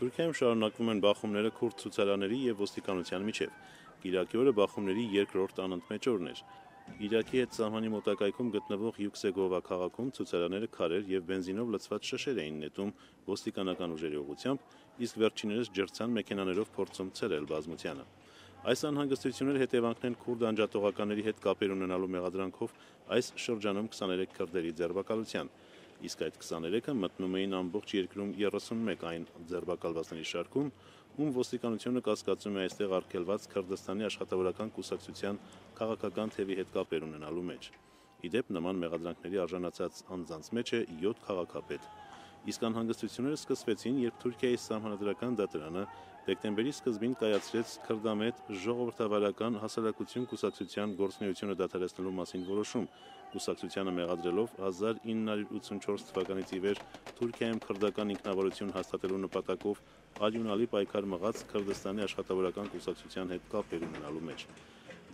Թուրքիայում շարունակվում են բախումները քուրդ ցուցարարների և ոստիկանության միջև։ Կիրակի օրը բախումների երկրորդ անընդմեջ օրն էր։ Իրաքի հետ սահմանի մոտակայքում գտնվող Յուքսեգովա քաղաքում ցուցարարները քարեր և բենզինով լցված շշեր էին նետում ոստիկանական ուժերի ուղղությամբ, իսկ վերջիններս ջրցան մեքենաներով փորձում ցրել բազմությանը։ Այս անհանգստությունները հետևանքն են քուրդ անջատողականների հետ կապեր ունենալու մեղադրանքով այս շրջանում 23 քրդերի ձերբակալության, իսկ այդ 23-ը մտնում էին ամբողջ երկրում 31 այն ձերբակալվածների շարքում, ում ոստիկանությունը կասկածում է այստեղ արգելված Քրդստանի աշխատավորական կուսակցության քաղաքական թևի հետ կապեր ունենալու մեջ։ Ի դեպ, նման մեղադրանքների արժանացած անձանց մեջ է 7 քաղաքապետ։ Իսկ անհանգստությունները սկսվեցին, երբ Թուրքիայի սահմանադրական դատարանը դեկտեմբերի սկզբին կայացրեց քրդամետ ժողովրդավարական հասարակություն կուսակցության գործունեությունը դադարեցնելու մասին որոշում, կուսակցությանը մեղադրելով 1984 թվականից ի վեր Թուրքիայում քրդական ինքնավարություն հաստատելու նպատակով արյունալի պայքար մղած Քրդստանի աշխատավորական կուսակցության հետ կապեր ունենալու մեջ։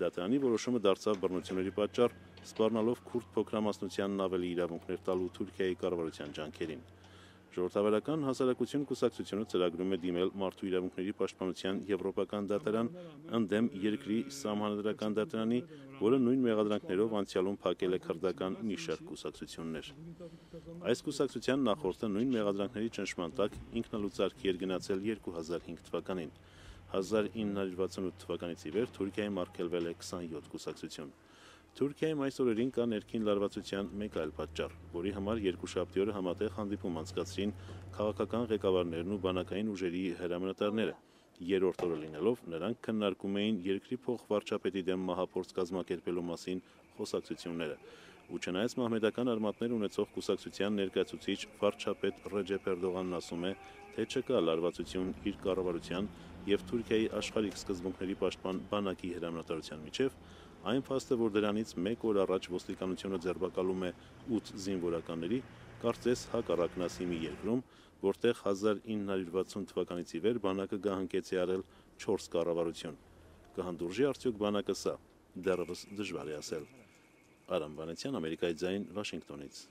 Դատարանի որոշումը դարձավ բռնությունների պատճառ, սպառնալով քուրդ փոքրամասնությանն ավելի իրավունքներ տալու Թուրքիայի կառավարության ջանքերին։ Ժողովրդավարական հասարակություն կուսակցությունը ծրագրում է դիմել Մարդու իրավունքների պաշտպանության եվրոպական դատարան ընդդեմ երկրի սահմանադրական դատարանի, որը նույն մեղադրանքներով անցյալում փակել է քրդական մի շարք կուսակցություններ։ Այս կուսակցության նախորդը նույն մեղադրանքների ճնշման տակ ինքնալուծարքի էր գնացել 2005 թվականին։ 1968 թվականից ի վեր Թուրքիայում արգելվել է 27 կուսակցություն։ Թուրքիայում այս օրերին կա ներքին լարվածության մեկ այլ պատճառ, որի համար երկուշաբթի օրը համատեղ հանդիպում անցկացրին քաղաքական ղեկավարներն ու բանակային ուժերի հրամանատարները։ Երրորդ օրը լինելով նրանք քննարկում էին երկրի փոխվարչապետի դեմ մահափորձ կազմակերպելու մասին խոսակցությունները։ Ու չնայած մահմեդական արմատներ ունեցող կուսակցության ներկայացուցիչ վարչապետ Ռեջեփ Էրդողանն ասում է, թե չկա լարվածություն իր կառավարության և Թուրքիայի աշխարհիկ սկզբունքների պաշտպան բանակի հրամանատարության միջև, այն փաստը, որ դրանից մեկ օր առաջ ոստիկանությունը ձերբակալում է 8 զինվորականների, կարծես հակառակն ասի մի երկրում, որտեղ 1960 թվականից ի վեր բանակը գահընկեց է արել 4 կառավարություն։ Կհանդուրժի արդյոք բանակը սա։ Դեռևս դժվար է ասել։ Արամ Վանեցյան, Ամերիկայի ձայն, Վաշինգտոնից։